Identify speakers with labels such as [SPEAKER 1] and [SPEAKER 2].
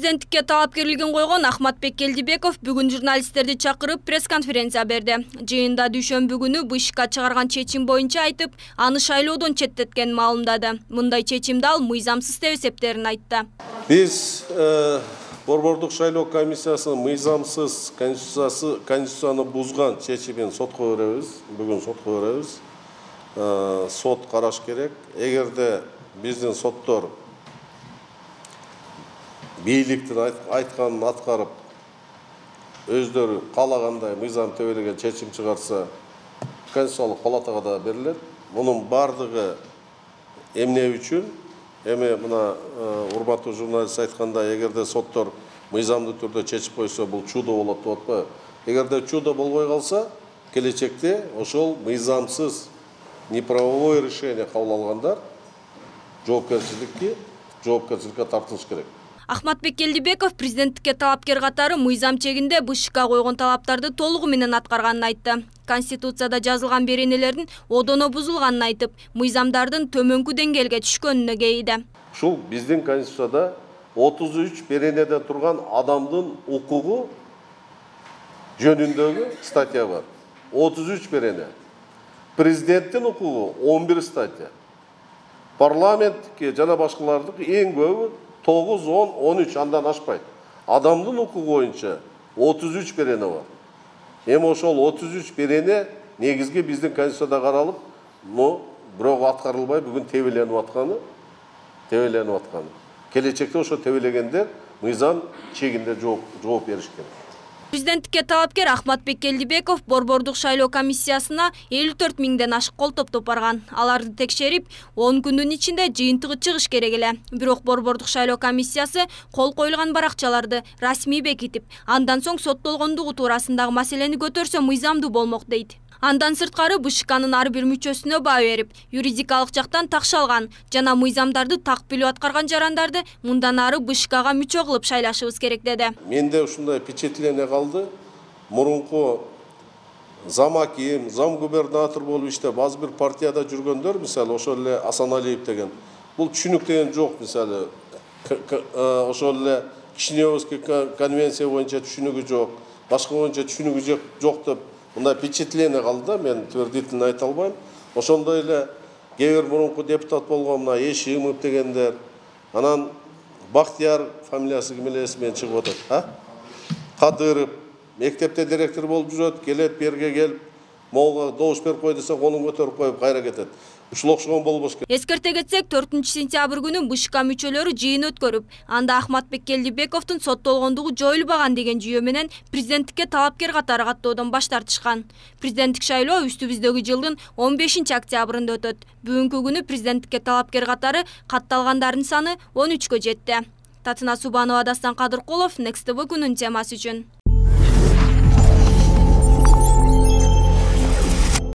[SPEAKER 1] Президенттикке талапкерлигин койгон Ахматбек Келдибеков бүгүн журналисттерди чакырып пресс-конференция берди. Жыйында дүйшөмбү күнү БШК чыгарган чечим боюнча айтып, аны шайлоодон четтеткенин маалымдады. Мындай чечимди ал мыйзамсыз деп эсептерин айтты.
[SPEAKER 2] Биз Борбордук шайлоо комиссиясынын мыйзамсыз конституцияны бузган чечимин сотко беребиз. Бүгүн сотко беребиз. Сот караш керек. Эгерде биздин соттор бийликтин айтканын аткарып, өздөрү каалагандай мыйзам тебелеген чечим чыгарса, Конституциялык палатага да берилет. Мунун бардыгы эмне үчүн? Эми мына урматтуу журналист айткандай, эгерде соттор мыйзамдуу түрдө чечип койсо, бул чудо болот деп атпайбы? Эгерде чудо болбой калса, келечекте ошол мыйзамсыз неправовое решение кабыл алгандар жоопкерчиликке тартылыш керек.
[SPEAKER 1] Ахматбек Келдибеков президенттикке талапкер катары мыйзам чегинде БШК койгон талаптарды толугу менен аткарганын айтты. Конституцияда жазылган беренелердин одоно бузулганын айтып, мыйзамдардын төмөнкү деңгээлге түшкөнүнө кейиди.
[SPEAKER 2] Ушул биздин Конституцияда 33 беренеде турган адамдын укугу жөнүндөгү статья бар. 33 берене. Президенттин укугу 11 статья. Парламенттикке жана башкалардыкы эң көбү 9, 10, 13 андан ашпайт. Адамдын укугу боюнча 33 берене бар. Эми ошол 33 берене негизги биздин Конституцияда каралып, бирок аткарылбай бүгүн тебеленип атканы. Келечекте ошо тебелегендер мыйзам чегинде жооп бериш керек.
[SPEAKER 1] Президенттикке талапкер Ахматбек Келдибеков Борбордук шайлоо комиссиясына 54 миңден ашык кол топтоп барган. Аларды текшерип, 10 күндүн ичинде жыйынтыгы чыгыш керек эле. Бирок Борбордук шайлоо комиссиясы кол коюлган баракчаларды расмий бекитип, андан соң соттолгондугу туурасындагы маселени көтөрсө мыйзамдуу болмок дейт. Андан сырткары БШКнын ар бир мүчөсүнө баа берип, юридикалык жактан такшалган жана мыйзамдарды так билип аткарган жарандарды мындан ары БШКга мүчө кылып шайлашыбыз керек деди.
[SPEAKER 2] Менде ушундай впечатление калды. Мурунку замаким, замгубернатор болуп иштеп, аз бир партияда жүргөндөр, мисалы ошол эле Асаналиев деген, бул түшүнүк деген жок, мисалы ошол эле Кишиневский конвенция боюнча түшүнүгү жок, башка боюнча түшүнүгү жок деп мындай впечатление калды да, мен твердительно айта албайм. Ошондой эле кээ бир мурунку депутат болгон мына Эшимов дегендер, анан Бактияр фамилиясы ким эле эсимден чыгып атат, Кадыров, мектепте директор болуп жүрөт, келет берге келип, могуга добуш берип кой десе, колун көтөрүп коюп кайра кетет. Ушул окшогон болбош керек.
[SPEAKER 1] Эскерте кетсек, 4-сентябрь күнү БШК мүчөлөрү жыйын өткөрүп, анда Ахматбек Келдибековдун соттолгондугу жоюлбаган деген жүйө менен президенттикке талапкер катары каттоодон баш тартышкан. Президенттик шайлоо үстүбүздөгү жылдын 15 октябрында өтөт. Бүгүнкү күнү президенттикке талапкер катары катталгандардын саны 13кө жетти. Татына Субанова, Дастан Кадыркулов, Next TV күнүн темасы үчүн.